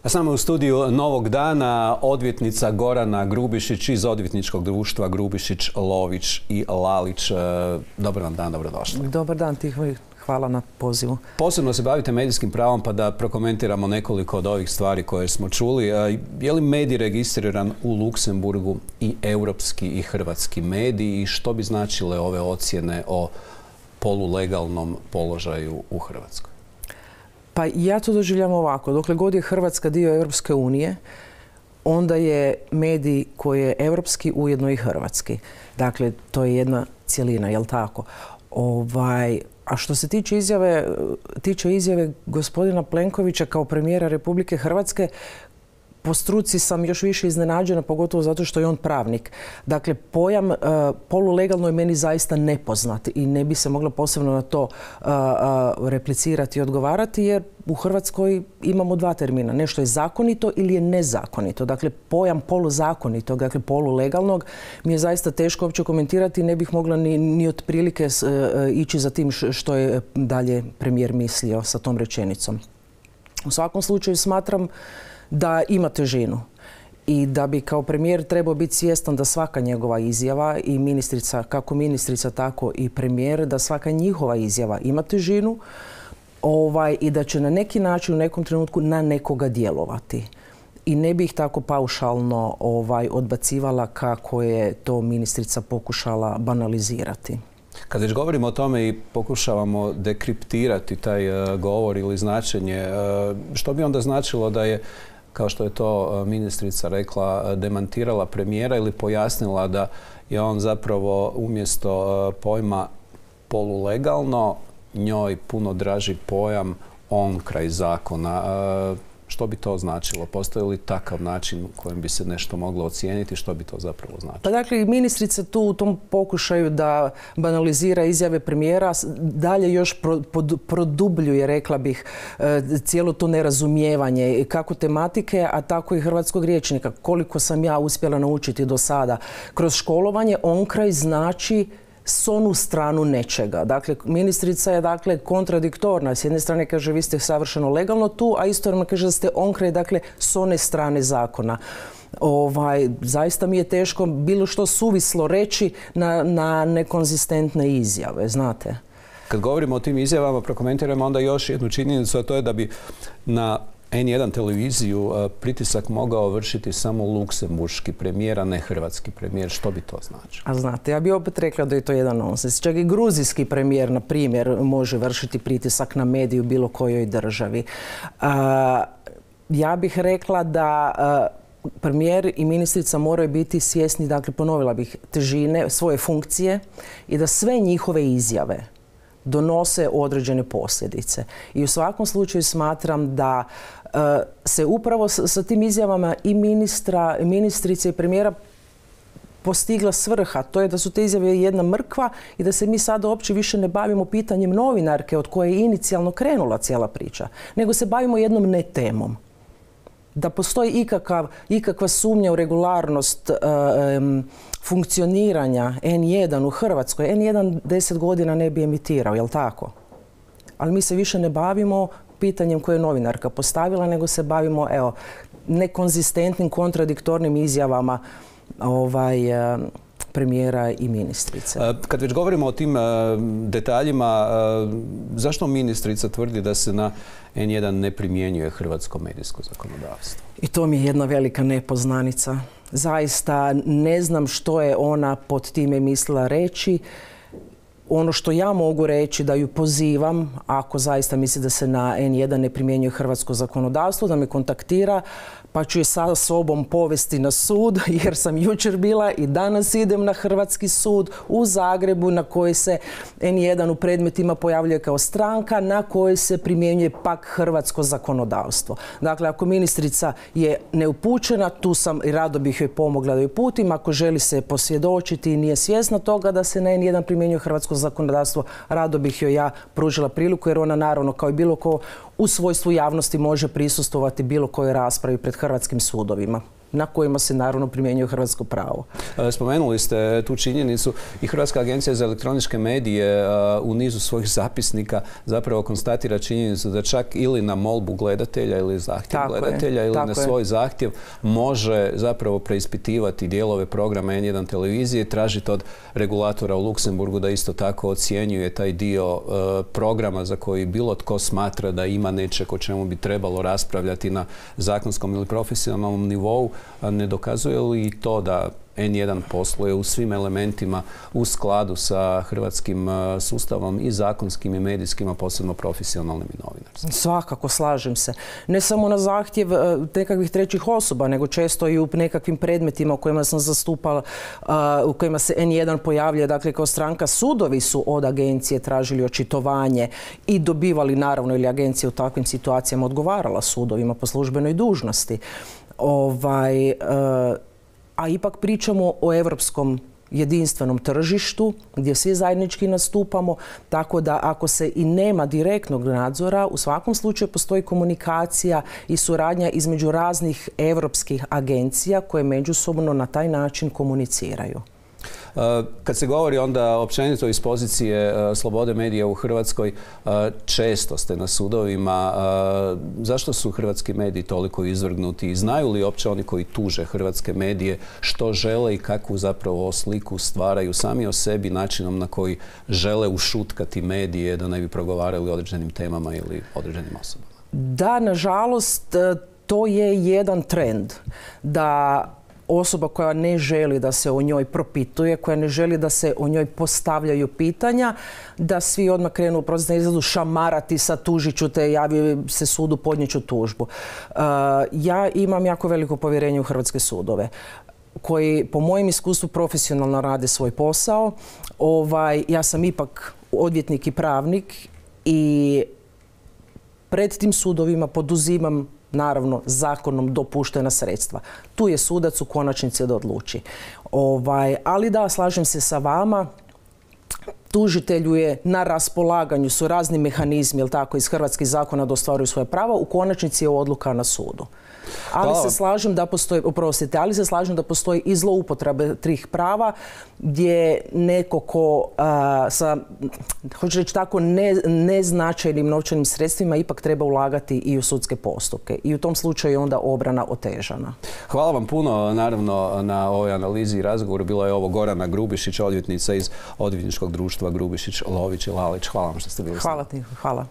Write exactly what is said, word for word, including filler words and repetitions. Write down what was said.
A samo u studiju Novog dana odvjetnica Gorana Grubišić iz odvjetničkog društva Grubišić, Lović i Lalić. Dobar vam dan, dobrodošli. Dobar dan, Tihomir. Hvala na pozivu. Posebno se bavite medijskim pravom, pa da prokomentiramo nekoliko od ovih stvari koje smo čuli. Je li medij registriran u Luksemburgu i europski i hrvatski mediji i što bi značile ove ocjene o polulegalnom položaju u Hrvatskoj? Pa ja to doživljam ovako. Dokle god je Hrvatska dio Europske unije, onda je medij koji je europski ujedno i hrvatski. Dakle, to je jedna cjelina, jel tako? Ovaj, a što se tiče izjave, tiče izjave gospodina Plenkovića kao premijera Republike Hrvatske, po struci sam još više iznenađena, pogotovo zato što je on pravnik. Dakle, pojam uh, polulegalno je meni zaista nepoznat i ne bi se mogla posebno na to uh, uh, replicirati i odgovarati, jer u Hrvatskoj imamo dva termina. Nešto je zakonito ili je nezakonito. Dakle, pojam poluzakonitog, dakle polulegalnog, mi je zaista teško uopće komentirati i ne bih mogla ni, ni otprilike uh, ići za tim što je dalje premijer mislio sa tom rečenicom. U svakom slučaju smatram da ima težinu i da bi kao premijer trebao biti svjestan da svaka njegova izjava i ministrica, kako ministrica tako i premijer, da svaka njihova izjava ima težinu ovaj, i da će na neki način u nekom trenutku na nekoga djelovati. I ne bih tako paušalno ovaj, odbacivala kako je to ministrica pokušala banalizirati. Kad već govorimo o tome i pokušavamo dekriptirati taj uh, govor ili značenje, uh, što bi onda značilo da je, kao što je to uh, ministrica rekla, demantirala premijera ili pojasnila da je on zapravo umjesto uh, pojma polulegalno njoj puno draži pojam on kraj zakona. Uh, Što bi to značilo? Postoji li takav način kojim bi se nešto moglo ocijeniti? Što bi to zapravo značilo? Pa dakle, ministrica tu u tom pokušaju da banalizira izjave premijera dalje još pro, pod, produbljuje, rekla bih, cijelo to nerazumijevanje kako tematike, a tako i hrvatskog rječnika. Koliko sam ja uspjela naučiti do sada kroz školovanje, onkraj znači s onu stranu nečega. Dakle, ministrica je dakle kontradiktorna. S jedne strane kaže vi ste savršeno legalno tu, a istovremeno kaže da ste onkraj, dakle, s one strane zakona. Ovaj, zaista mi je teško bilo što suvislo reći na, na nekonzistentne izjave, znate. Kad govorimo o tim izjavama, prokomentiramo onda još jednu činjenicu, a to je da bi na en jedan televiziju pritisak mogao vršiti samo luksemburški premijer, a ne hrvatski premijer. Što bi to značilo? A znate, ja bih opet rekla da je to jedan nonsens. Čak i gruzijski premijer, na primjer, može vršiti pritisak na mediju bilo kojoj državi. A, ja bih rekla da a, premijer i ministrica moraju biti svjesni, dakle, ponovila bih, težine svoje funkcije i da sve njihove izjave donose određene posljedice. I u svakom slučaju smatram da uh, se upravo s, sa tim izjavama i ministra, ministrice i premijera postigla svrha. To je da su te izjave jedna mrkva i da se mi sada uopće više ne bavimo pitanjem novinarke od koje je inicijalno krenula cijela priča, nego se bavimo jednom ne temom. Da postoji ikakav, ikakva sumnja u regularnost um, funkcioniranja en jedan u Hrvatskoj. en jedan deset godina ne bi emitirao, jel tako? Ali mi se više ne bavimo pitanjem koje je novinarka postavila, nego se bavimo, evo, nekonzistentnim, kontradiktornim izjavama ovaj, premijera i ministrice. Kad već govorimo o tim detaljima, zašto ministrica tvrdi da se na en jedan ne primjenjuje hrvatsko medijsko zakonodavstvo? I to mi je jedna velika nepoznanica. Zaista ne znam što je ona pod time mislila reći. Ono što ja mogu reći da ju pozivam, ako zaista misli da se na en jedan ne primjenjuje hrvatsko zakonodavstvo, da me kontaktira, pa ću je sa sobom povesti na sud, jer sam jučer bila i danas idem na hrvatski sud u Zagrebu, na koji se en jedan u predmetima pojavljuje kao stranka, na kojoj se primjenjuje pak hrvatsko zakonodavstvo. Dakle, ako ministrica je neupućena, tu sam i rado bih joj pomogla da ju putim. Ako želi se posvjedočiti i nije svjesna toga da se na en jedan primjenjuje hrvatsko zakonodavstvo, rado bih joj ja pružila priliku, jer ona naravno kao i bilo ko u svojstvu javnosti može prisustvovati bilo kojoj raspravi pred hrvatskim sudovima. na kojima se naravno primjenjuje hrvatsko pravo. Spomenuli ste tu činjenicu i Hrvatska agencija za elektroničke medije u nizu svojih zapisnika zapravo konstatira činjenicu da čak ili na molbu gledatelja ili zahtjev tako gledatelja je, ili na svoj je. zahtjev može zapravo preispitivati dijelove programa en jedan televizije i tražiti od regulatora u Luksemburgu da isto tako ocjenjuje taj dio programa za koji bilo tko smatra da ima nečeg o čemu bi trebalo raspravljati na zakonskom ili profesionalnom nivou. Ne dokazuje li to da en jedan posluje u svim elementima u skladu sa hrvatskim sustavom i zakonskim i medijskim, a posebno profesionalnim i novinarskim? Svakako, slažem se. Ne samo na zahtjev nekakvih trećih osoba, nego često i u nekakvim predmetima u kojima sam zastupala, u kojima se en jedan pojavlja, dakle kao stranka, sudovi su od agencije tražili očitovanje i dobivali, naravno, ili agencija u takvim situacijama odgovarala sudovima po službenoj dužnosti. Ovaj, a ipak pričamo o europskom jedinstvenom tržištu gdje svi zajednički nastupamo, tako da ako se i nema direktnog nadzora, u svakom slučaju postoji komunikacija i suradnja između raznih europskih agencija koje međusobno na taj način komuniciraju. Kad se govori onda općenito iz pozicije slobode medija u Hrvatskoj, često ste na sudovima. Zašto su hrvatski mediji toliko izvrgnuti? Znaju li uopće oni koji tuže hrvatske medije što žele i kakvu zapravo sliku stvaraju sami o sebi, načinom na koji žele ušutkati medije da ne bi progovarali o određenim temama ili određenim osobama? Da, nažalost, to je jedan trend da osoba koja ne želi da se o njoj propituje, koja ne želi da se o njoj postavljaju pitanja, da svi odmah krenu prosto na izlazu šamarati sa tužit ću te, javi se sudu, podnijet ću tužbu. Uh, ja imam jako veliko povjerenje u hrvatske sudove koji po mojem iskustvu profesionalno rade svoj posao. Ovaj, ja sam ipak odvjetnik i pravnik i pred tim sudovima poduzimam naravno zakonom dopuštena sredstva. Tu je sudac u konačnici da odluči. Ovaj, ali da, slažem se sa vama, tužitelju je na raspolaganju, su razni mehanizmi, jel tako, iz hrvatskih zakona da ostvaruju svoje prava, u konačnici je odluka na sudu. Ali se slažem da postoji, oprostite, ali se slažem da postoji i zloupotrebe tih prava gdje neko ko a, sa, hoću reći tako, ne, neznačajnim novčanim sredstvima ipak treba ulagati i u sudske postupke. I u tom slučaju je onda obrana otežana. Hvala vam puno, naravno, na ovoj analizi i razgovoru. Bilo je ovo Gorana Grubišić, odvjetnica iz odvjetničkog društva Grubišić, Lović i Lalić. Hvala vam što ste bili s nama. Hvala ti, hvala.